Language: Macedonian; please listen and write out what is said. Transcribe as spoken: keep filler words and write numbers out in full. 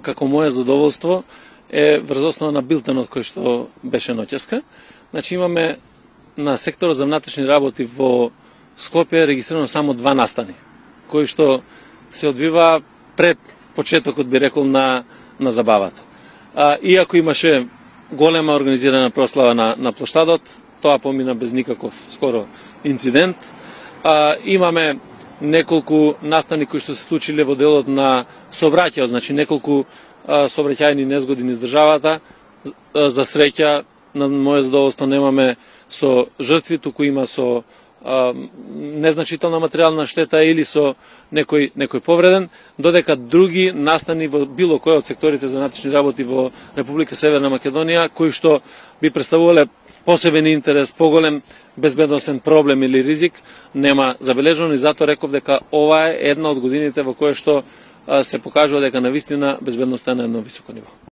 како моje задоволство е врз основа на билтенот кој што беше ноќеска. Значи имаме на секторот за внатрешни работи во Скопје регистрирано само два настани, кои што се одвива пред почетокот, би рекол, на, на забавата. А, иако имаше голема организирана прослава на, на плоштадот, тоа помина без никаков скоро инцидент. А, имаме неколку настани кои што се случиле во делот на сообраќајот, значи неколку а, сообраќајни незгоди низ државата. За среќа, на моје задоволство, немаме со жртви, туку има со а, незначителна материјална штета или со некој некој повреден, додека други настани во било кој од секторите за внатрешни работи во Република Северна Македонија, кои што би представувале посебен интерес, поголем безбедносен проблем или ризик, нема забележано, и затоа реков дека ова е една од годините во кое што а, се покажува дека навистина безбедноста е на едно високо ниво.